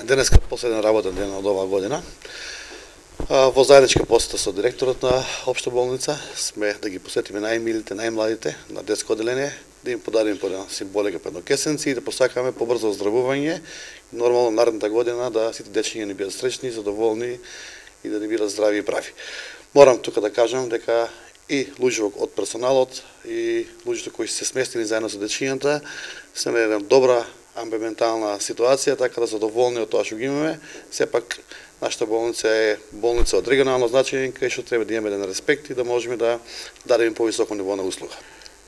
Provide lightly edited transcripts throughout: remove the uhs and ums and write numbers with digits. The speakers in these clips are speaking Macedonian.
денеска последен работен ден од оваа година. Во заедничка посета со директорот на Општа болница сме да ги посетиме најмилите, најмладите на детско оделение, да им подариме по една символика, по едно кесенци и да посакаме побрзо оздравување. Нормално наредната година да сите дечиња ни бидат среќни, задоволни и да ни бидат здрави и прави. Морам тука да кажам дека и луѓето од персоналот и луѓето кои се сместили заедно со дечињата се на една добра амбиентална ситуација, така да задоволни од тоа што ги имаме. Сепак нашата болница е болница од регионално значење, кај што треба да имаме еден респект и да можеме да дадеме повисоко ниво на услуга.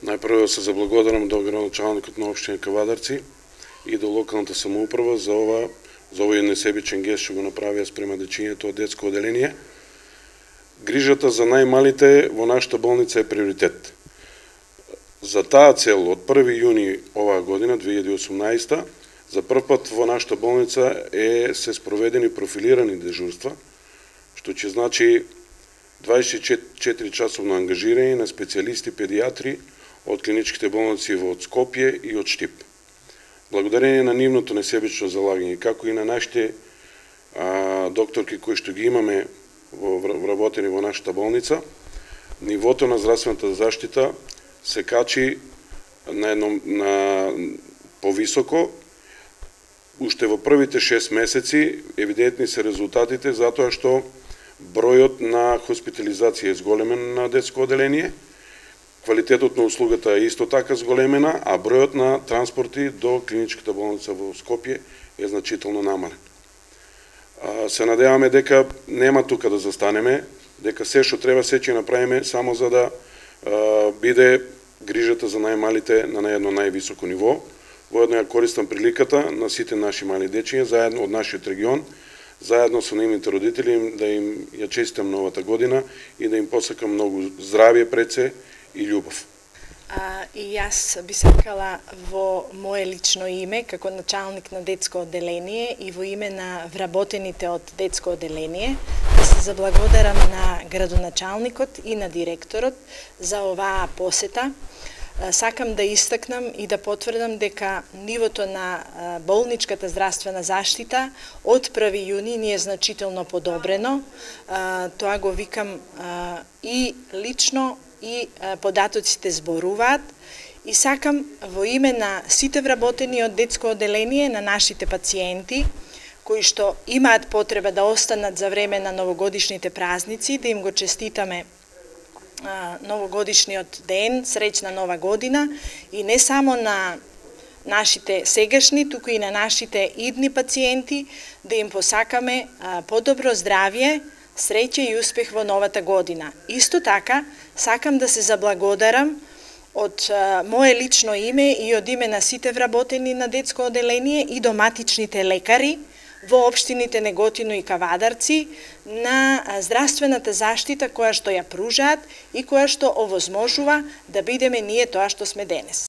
Најпрво се заблагодарам до градоначалникот на општина Кавадарци и до локалната самоуправа за овој несебичен гест што го направија спрема дечињето од детско оделение. Грижата за најмалите во нашата болница е приоритет. За таа цел од 1 јуни оваа година, 2018, за прв пат во нашата болница се спроведени профилирани дежурства, што ќе значи 24 часовно ангажирање на специјалисти педијатри од клиничките болници од Скопје и од Штип. Благодарение на нивното несебично залагање, како и на нашите докторки кои што ги имаме вработени во нашата болница, нивото на здравствената заштита се качи на повисоко. Уште во првите 6 месеци евидентни се резултатите затоа што бројот на хоспитализација е зголемен на детско оделение, квалитетот на услугата е исто така зголемена, а бројот на транспорти до клиничката болница во Скопје е значително намален. Се надеваме дека нема тука да застанеме, дека се што треба се ќе направиме само за да биде грижата за најмалите на едно највисоко ниво. Воедно ја користам приликата на сите наши мали дечиња заедно од нашиот регион, заедно со нивните родители да им ја честитам новата година и да им посакам многу здравје пред се и љубов. И јас би сакала во мое лично име, како началник на детско оделение и во име на вработените од детско оделение, да се заблагодарам на градоначалникот и на директорот за оваа посета. Сакам да истакнам и да потврдам дека нивото на болничката здравствена заштита од 1 јуни ни е значително подобрено. Тоа го викам и лично и податоците зборуваат. И сакам во име на сите вработени од детско оделение, на нашите пациенти, кои што имаат потреба да останат за време на новогодишните празници, да им го честитаме новогодишниот ден, среќна нова година, и не само на нашите сегашни, туку и на нашите идни пациенти, да им посакаме подобро здравје, среќа и успех во новата година. Исто така, сакам да се заблагодарам од мое лично име и од име на сите вработени на детско оделение и доматичните лекари во општините Неготино и Кавадарци на здравствената заштита која што ја пружаат и која што овозможува да бидеме ние тоа што сме денес.